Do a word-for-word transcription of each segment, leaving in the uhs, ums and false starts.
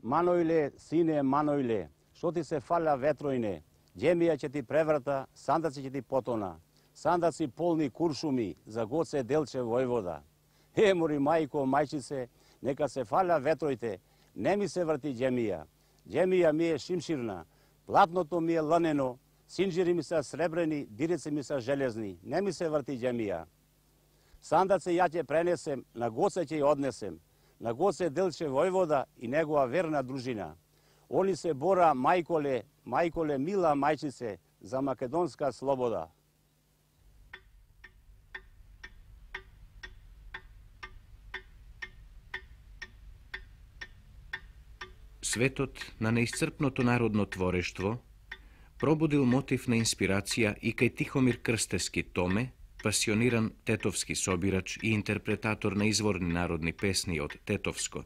Маноиле, сине, Маноиле, што ти се фаля ветроине, џемија ќе ти преврта, сандаци ќе ти потона, сандаци полни куршуми, за Гоце Делче војвода. Е, мори мајко, мајчице, нека се фаля ветроите, не ми се врти џемија. Џемија ми е шимширна, платното ми е ланено, синџири ми се сребрени, дирици ми се железни, не ми се врти џемија. Сандаци ја ќе пренесем, на Гоце ќе ја однесем, на Гоце Делче војвода и негова верна дружина. Они се бора, мајколе, мајколе, мила мајчице, за македонска слобода. Светот на неисцрпното народно творештво пробудил мотив на инспирација и кај Тихомир Крстевски Томе, пасиониран тетовски собирач и интерпретатор на изворни народни песни од Тетовско.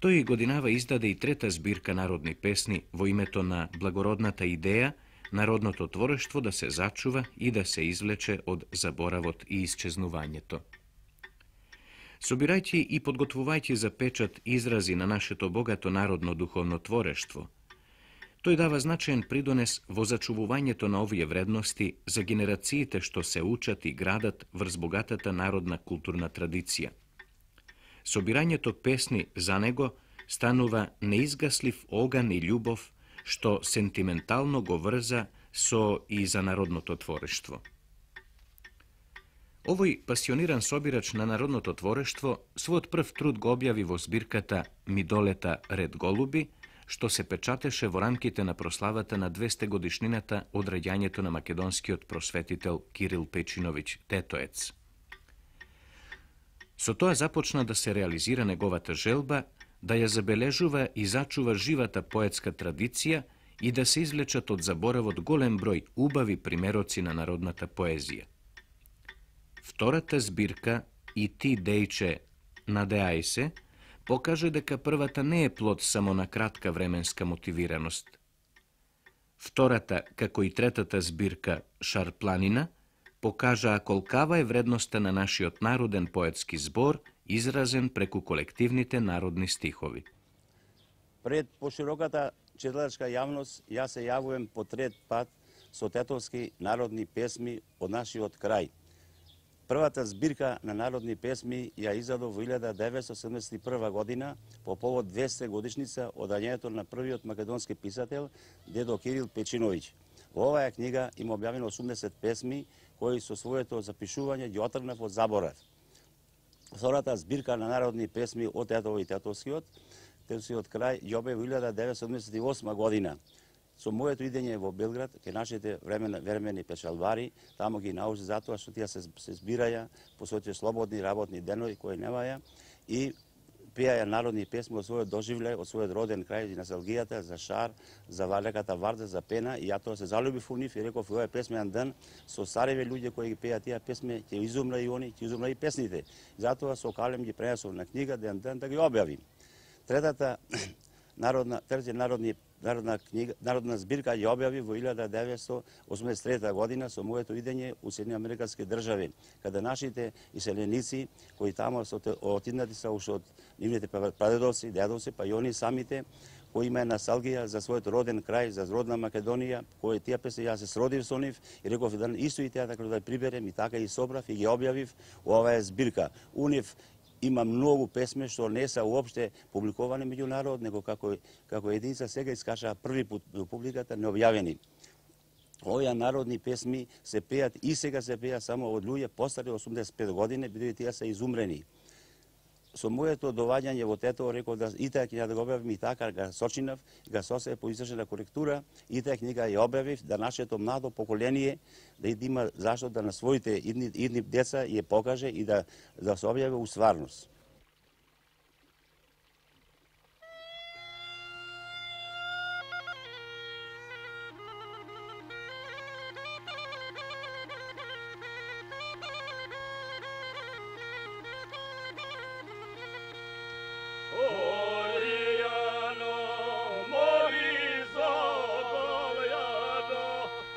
Тој годинава издаде и трета збирка народни песни во името на благородната идеја народното творештво да се зачува и да се извлече од заборавот и исчезнувањето. Собирајќи и подготвувајќи за печат изрази на нашето богато народно духовно творештво, тој дава значаен придонес во зачувувањето на овие вредности за генерациите што се учат и градат врз богатата народна културна традиција. Собирањето песни за него станува неизгаслив оган и љубов што сентиментално го врза со и за народното творештво. Овој пасиониран собирач на народното творештво својот прв труд го објави во збирката Ми долета ред голуби, што се печатеше во рамките на прославата на двесте годишнината од раѓањето на македонскиот просветител Кирил Печиновиќ Тетоец. Со тоа започна да се реализира неговата желба да ја забележува и зачува живата поетска традиција и да се извлечат од заборавот голем број убави примероци на народната поезија. Втората збирка И ти, дејче, надеај се, покаже дека првата не е плод само на кратка временска мотивираност. Втората, како и третата збирка Шарпланина, покажаа колкава е вредноста на нашиот народен поетски збор, изразен преку колективните народни стихови. Пред пошироката читалачка јавност, јас се јавувам по трет пат со тетовски народни песми од нашиот крај. Првата збирка на народни песми ја издадов во илјада деветстотини седумдесет и прва година по повод двесте годишница од раѓањето на првиот македонски писател дедо Кирил Печиновиќ. Во оваа книга има објавено осумдесет песми кои со своето запишување ги отргнав од заборав. Втората збирка на народни песми од Тетово и Тетовскиот, Тетовскиот крај ја објави во илјада деветстотини седумдесет и осма година. Со моето идење во Белград, ке нашите времени, времени печалбари, таму ги научи затоа што тие се, се збираја по своите слободни работни денови кои немаја и пеаја народни песми од својот доживлеј, од својот роден крај, и носталгијата за Шар, за Валеката Варда, за Пена, и ја тоа се залюбив во нив и реков овој песмен ден со стареве луѓе кои ги пеат тие песми, ќе изумра и они, ќе изумра и песните. Затоа со калем ги пренесов на книга ден ден да ги објавим. Третата народна, трети народни Народна книга, народна збирка ја објави во илјада деветстотини осумдесет и трета година со моето идење у Соединените Американски држави, каде нашите иселеници кои таму се отиднати се уште од нивните прадедовци, дедовци, па и они самите кои имаат носталгија за својот роден крај, за родна Македонија, кои тие песни јас се сродив со нив и реков да исто и тие така да приберем и така и собрав и ги објавив оваа збирка. У нив има многу песми што не се уопште публикувани меѓу народ, него како, како единица сега искаша први пат до публиката необјавени. Овие народни песми се пеат и сега се пеат само од луѓе постари осумдесет и пет години, бидејќи тие се изумрени. Со моето доваѓање во Тетово реков да и таа книга да го објавим и така га сочинав, га сосе по извршена коректура и таа книга ја објавив да нашето младо поколение да има зашто да на своите идни, идни деца ја покаже и да, да се објави у стварност.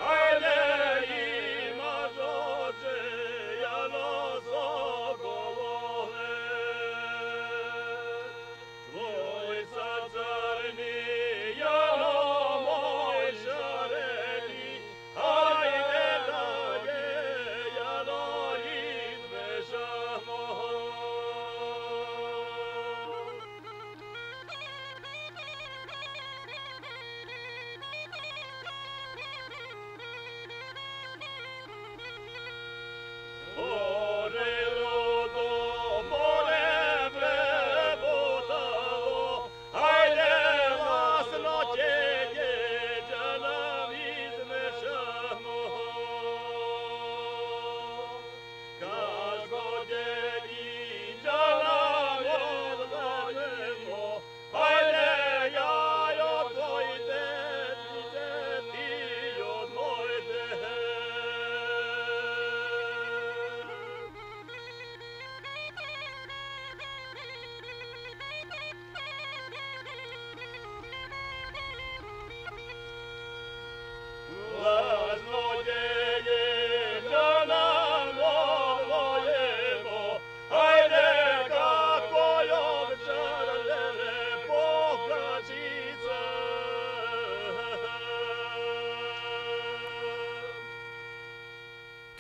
Ajde ima dođe, ja no zogolone.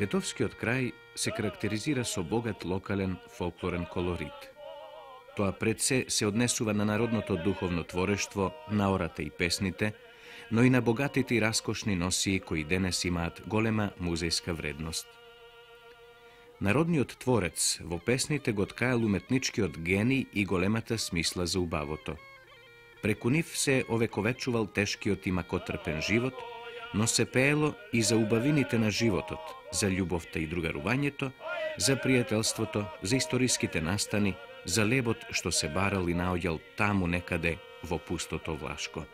Тетовскиот крај се карактеризира со богат локален фолклорен колорит. Тоа пред се се однесува на народното духовно творештво, наората и песните, но и на богатите и раскошни носии кои денес имаат голема музејска вредност. Народниот творец во песните го ткаел уметничкиот гений и големата смисла за убавото. Преку нив се овековечувал тешкиот и макотрпен живот, но се пеело и за убавините на животот, за љубовта и другарувањето, за пријателството, за историските настани, за лебот што се барал и наоѓал таму некаде во пустото Влашко.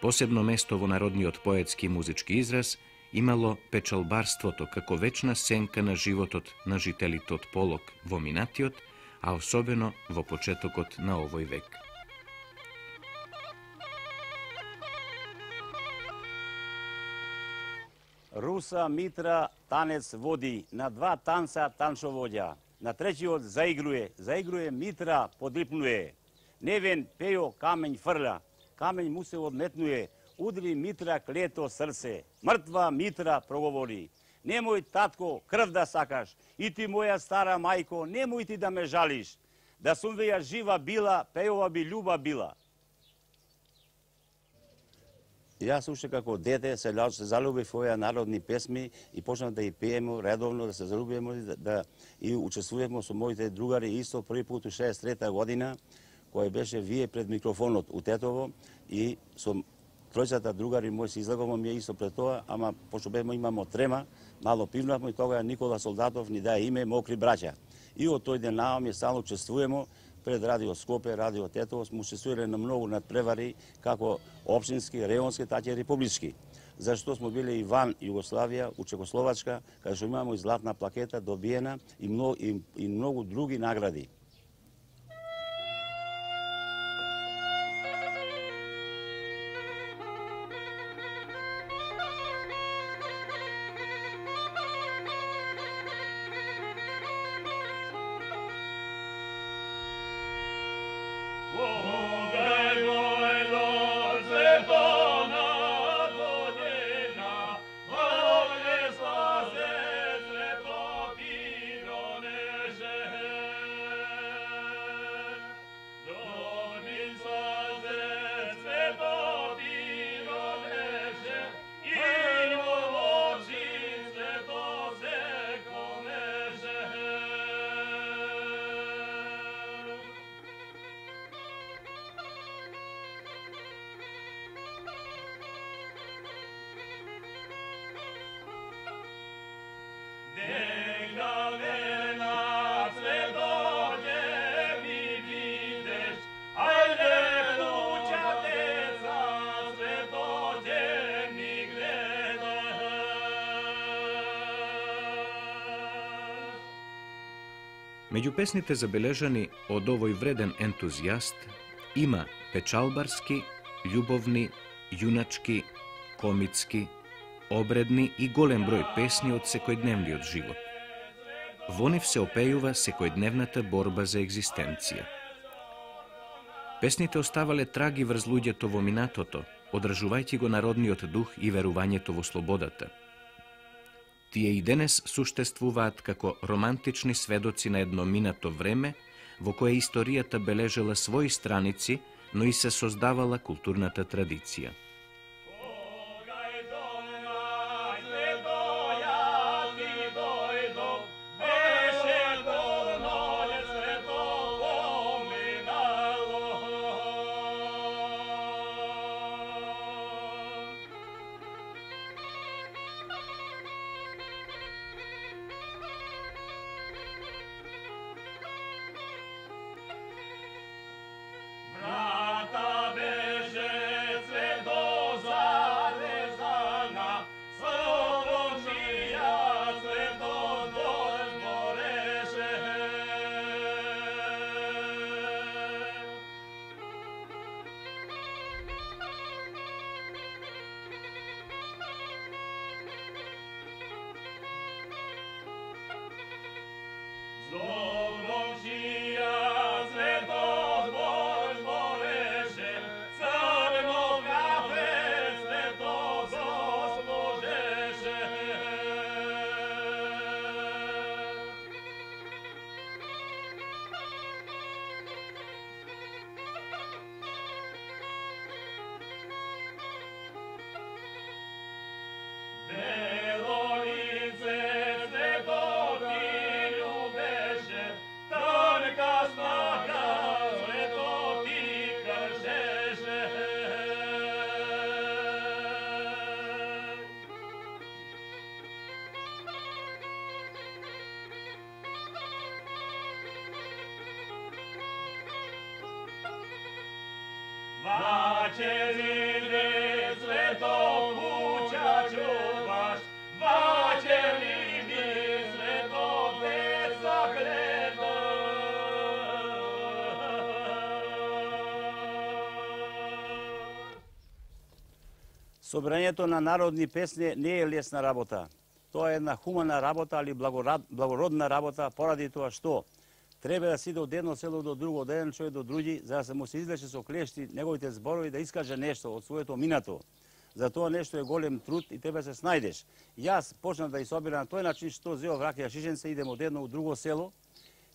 Посебно место во народниот поетски и музички израз имало печалбарството како вечна сенка на животот на жителите од Полог во минатиот, а особено во почетокот на овој век. Руса, Митра, танец води, на два танца танцоводја. На третиот заигруе, заигруе Митра, подрипнуе. Невен Пејо камењ фрля, камењ му се одметнуе, удри Митра клето срце. Мртва Митра проговори. Немој, татко, крв да сакаш, и ти моја стара мајко, немој ти да ме жалиш. Да сум веја жива била, Пејова би љуба била. Јас уште како дете се залюбив во овие народни песми и почнав да ги пееме редовно, да се залюбиме, да, да и учествуваме со моите другари исто први пат у шеесет и трета година, кој беше вие пред микрофонот у Тетово и со тројцата другари мои се излагамо ми исто пред тоа, ама пошто беме имамо трема, мало пивнавме и тогава Никола Солдатов ни даде име Мокри браќа. И од тој ден наоми стално учествуваме пред Радио Скопје, Радио Тетово, сме учествувале на многу надпревари, како општински, районски, така и републички. Зашто сме биле и ван Југославија, у Чекословачка, каде што имамо и златна плакета добиена и многу, и, и многу други награди. Меѓу песните забележани од овој вреден ентузијаст има печалбарски, љубовни, јуначки, комицки, обредни и голем број песни од секојдневниот живот. Во нив се опејува секојдневната борба за екзистенција. Песните оставале траги врз луѓето во минатото, одржувајќи го народниот дух и верувањето во слободата. Тие и денес суштествуваат како романтични сведоци на едно минато време, во кое историјата бележела своји страници, но и се создавала културната традиција. Brata beže cvedo Собирањето на народни песни не е лесна работа. Тоа е една хумана работа, али благородна работа, поради тоа што треба да сиде од едно село до друго, од еден човек до други, за да се му се излече со клешти неговите зборови, да искаже нешто од своето минато. За тоа нешто е голем труд и треба да се снајдеш. Јас почнав да и собирам на тој начин што зеов ракија шишенце, идем од едно у друго село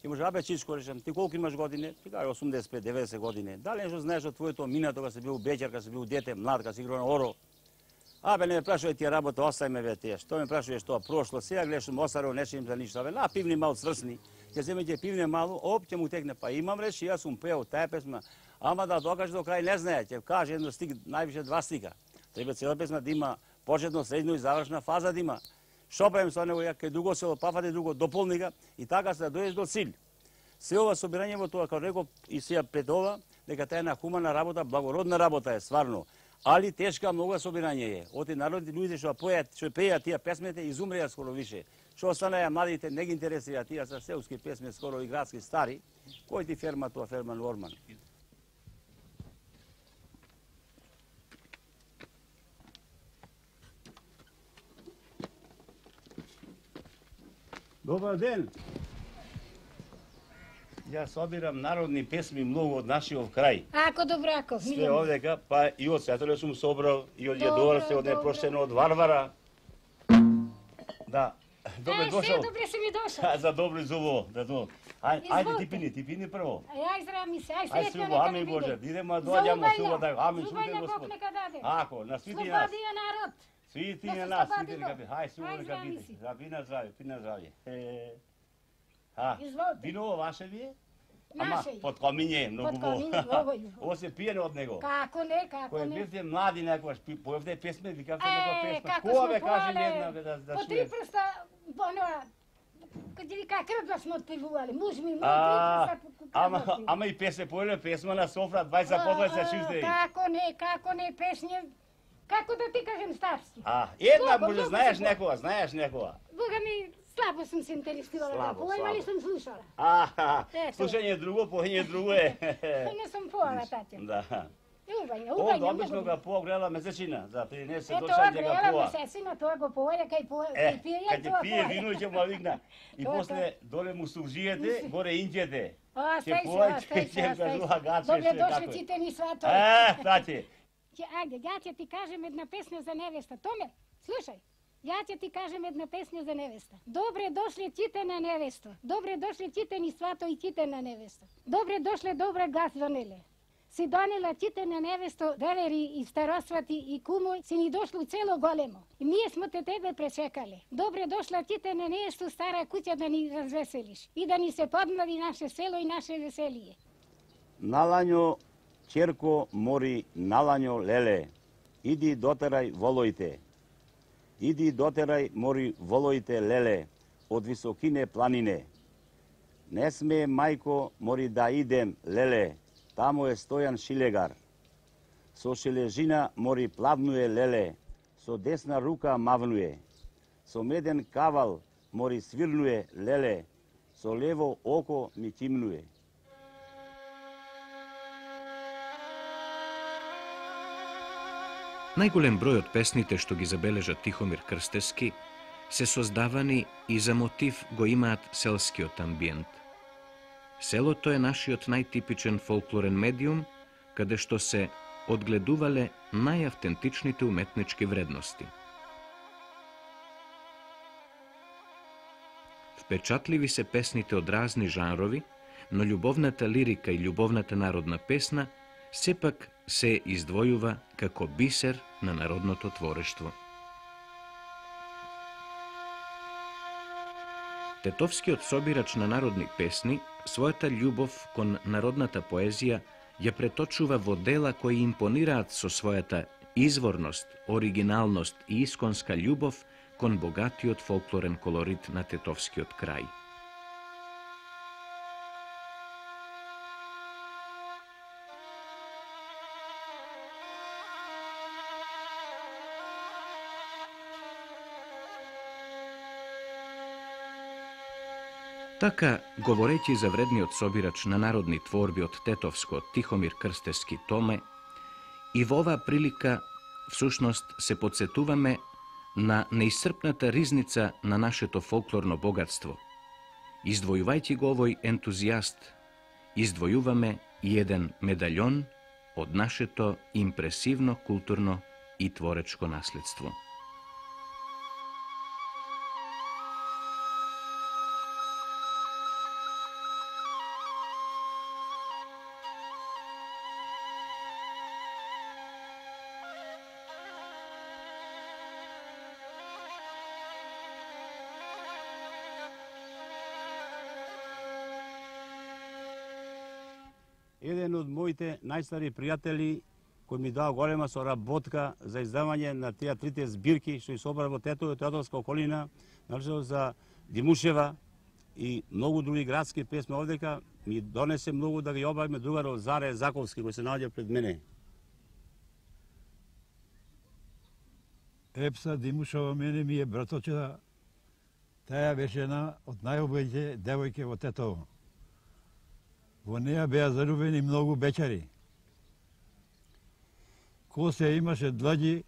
и може, абе Чичко, речем, ти колку имаш години? Ти кажа осумдесет и пет деведесет години. Дали нешто знаеш од твоето минато, кога си бил беќар, кога си бил дете, млад, кога си играл на оро? Абе, не ме прашувај тие работа, остајме ве тие. Што ме прашуваш тоа прошло? Сега гледам осаро, не им за ништо. Абе, на пивни мал сврсни. Ќе земеќе пивне малу, оп, ќе му текне. Па имам речи, јас сум пеел таа песма. Ама да докаже до крај не знае, ќе каже едно стик, највише два стика. Треба цела песма да има почетно, средно и завршна фаза да има. Што правим со него, ја кај друго село, пафате друго, дополни га и така се да дојдеш до цил. Се ова собирање во тоа, како реков и сега пред ова, дека таа е една хумана работа, благородна работа е стварно. Али тешка многу собирање е. Оти народни луѓе што поеат, што пеат тие песмите изумреа скоро више. Што останаа младите не ги интересира тие се селски песми, скоро и градски стари. Кој ти ферма тоа, Ферман Орман? Добар ден. Јас собирам народни песми многу од нашиот крај. Ако добрако. Све овдека, па и од Светоле сум собрал, и од Једорце, од Непроштено, од Варвара. Да. Добре дошол. Добре си ми дошол. За добро зубо, да то. Ај, ајде ти пини, ти пини прво. Ај здрави се, ај Ај среќно нека ами Боже, идемо доаѓамо сува да ами сувате Господ. Ако, на свити нас. Слободија народ. Свити на нас, свити нека биде. Ај сува нека биде. Да пина здравје, пина здравје. А, вино ваше ви е? Ама под комиње, многу во. Ово се пиене од него. Како не, како не. Кој бевте млади некојаш, поевте песме, викавте некоја песма. Кога бе каже една бе да да По три прста, оноа, каде ви крвда сме отпевували, муж ми, мој три прста. Ама, ама и песе поеле песма на софра, двајца по двајца шизде. Како не, како не, песње, како да ти кажем старски. А, една може знаеш некоја, знаеш некоја. Бога ми, слабо сум се интересувала, слабо, поема ли сум слушала. А, слушање друго, поење друго е. Не сум поала, татја. Да. Убање, Овде убање. обично го погледа месечина, за тринесет Ето, дошаѓа го гледа поа. месецина, тоа го поеја, кај поеја, Е, кај пие, кај тоа ќе пие вино ќе му викна. И Тоа, после доле му суржиете, горе инđете. А, Ќе стај се, појде, а, стај се, ќе а, кажува стај се. гаче, Добре што е дошли како е. тите ни свато. Е, тати. Ќе, ајде, ја ќе ти кажем една песна за невеста. Томе, слушај. Ја ќе ти кажем една песна за невеста. Добре дошли тите на невеста. Добре дошли тите ни свато и тите на невеста. Добре дошле, добре гас звонеле. Си донела тите на невесто, девери и старосвати и кумој, си ни дошло цело големо. И ние смо те тебе пречекале. Добре дошла тите на невесто, стара куќа да ни развеселиш и да ни се подмлади наше село и наше веселие. Налањо, черко, мори, налањо, леле, иди дотерај волоите. Иди дотерај мори волоите, леле, од високине планине. Не смее, мајко, мори да идем, леле, таму е Стојан Шилегар. Со шележина мори плавнуе, леле, со десна рука мавнуе. Со меден кавал мори свирнуе, леле, со лево око ми кимнуе. Најголем број од песните што ги забележа Тихомир Крстевски се создавани и за мотив го имаат селскиот амбиент. Селото е нашиот најтипичен фолклорен медиум, каде што се одгледувале најавтентичните уметнички вредности. Впечатливи се песните од разни жанрови, но љубовната лирика и љубовната народна песна сепак се издвојува како бисер на народното творештво. Тетовскиот собирач на народни песни својата љубов кон народната поезија ја преточува во дела кои импонираат со својата изворност, оригиналност и исконска љубов кон богатиот фолклорен колорит на тетовскиот крај. Така, говорејќи за вредниот собирач на народни творби од Тетовско Тихомир Крстевски Томе, и во оваа прилика всушност се подсетуваме на неисцрпната ризница на нашето фолклорно богатство. Издвојувајќи го овој ентузијаст, издвојуваме и еден медаљон од нашето импресивно културно и творечко наследство. Еден од моите најстари пријатели кој ми дава голема соработка за издавање на тие трите збирки што ги собра во Тетово, Тетовска околина, начело за Димушева и многу други градски песми овдека, ми донесе многу да ги обавиме другарот Заре Заковски кој се наоѓа пред мене. Епса Димушева мене ми е браточета. Таа беше една од најубавите девојки во Тетово. Во неја беа залюбени многу бечари. Косе имаше длаѓи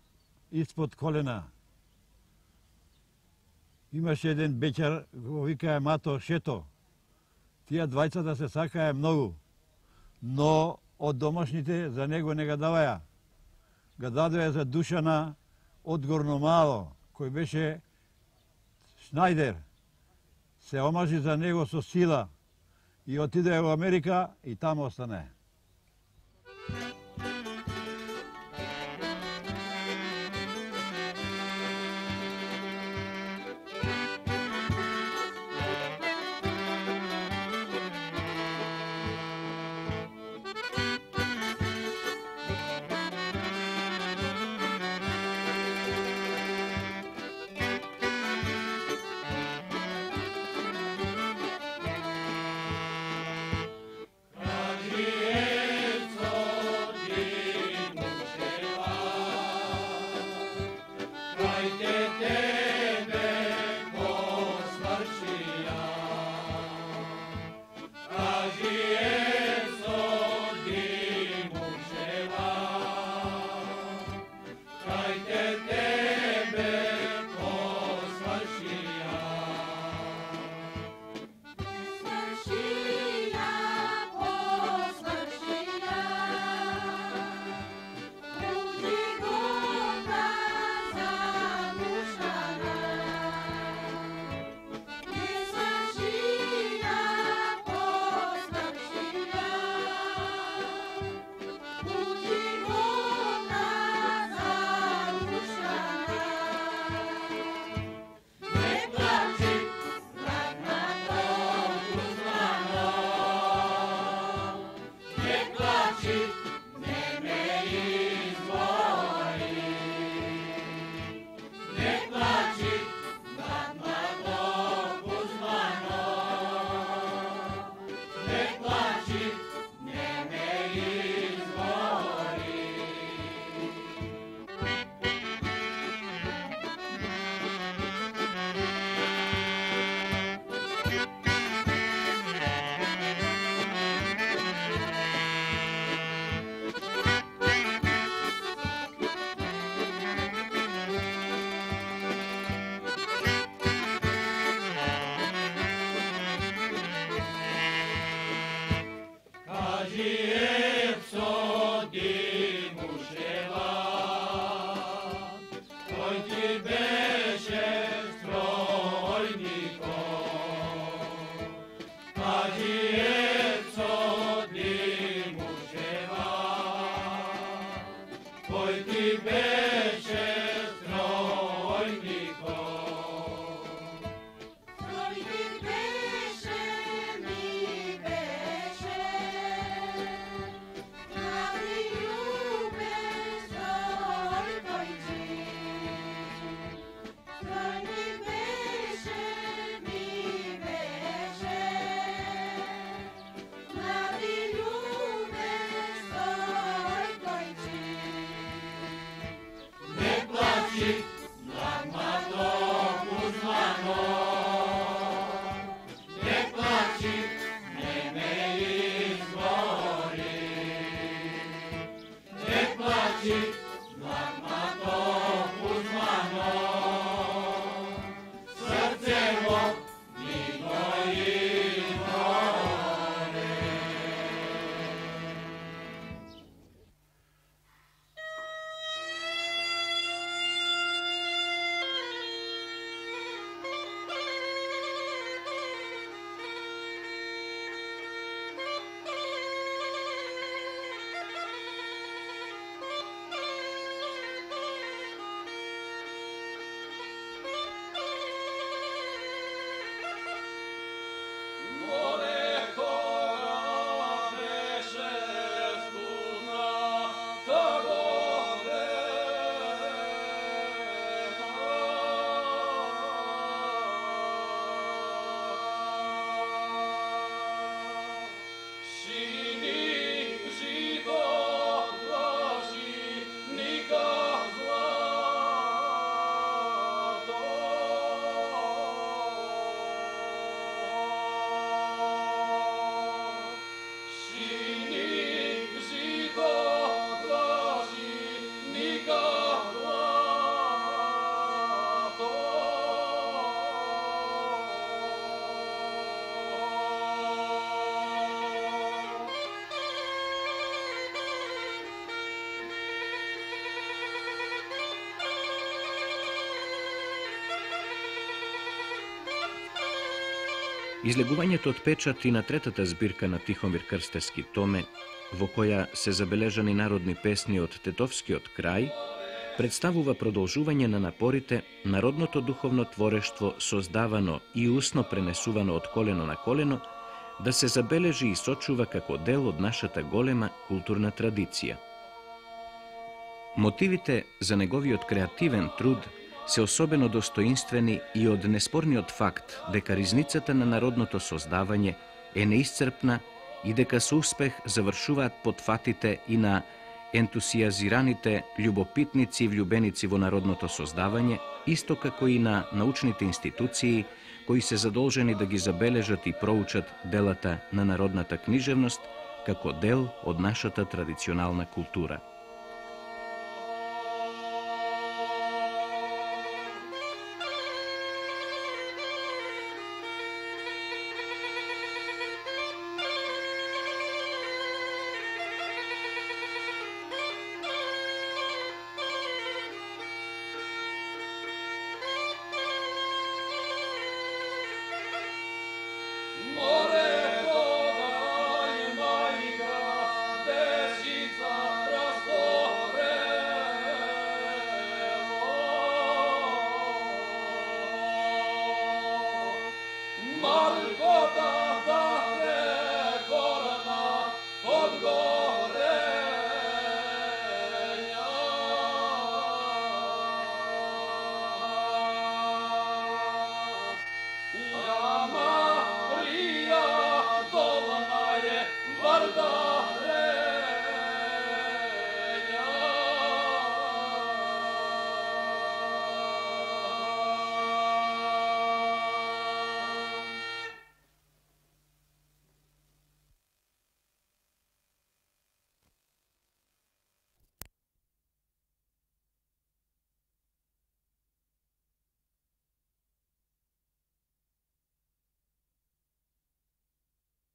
испод колена. Имаше еден бечар, го викае Мато Шето. Тие двајцата се сакаја многу, но од домашните за него не га даваја. Га дадоја за Душана од Горномало, кој беше Шнајдер. Се омажи за него со сила и отиде во Америка и таму остане. Yeah. Излегувањето од печат и на третата збирка на Тихомир Крстевски Томе, во која се забележани народни песни од тетовскиот крај, представува продолжување на напорите народното духовно творештво создавано и усно пренесувано од колено на колено да се забележи и сочува како дел од нашата голема културна традиција. Мотивите за неговиот креативен труд се особено достоинствени и од неспорниот факт дека ризницата на народното создавање е неисцрпна и дека со успех завршуваат потфатите и на ентусиазираните љубопитници и влюбеници во народното создавање, исто како и на научните институции кои се задолжени да ги забележат и проучат делата на народната книжевност како дел од нашата традиционална култура. Varda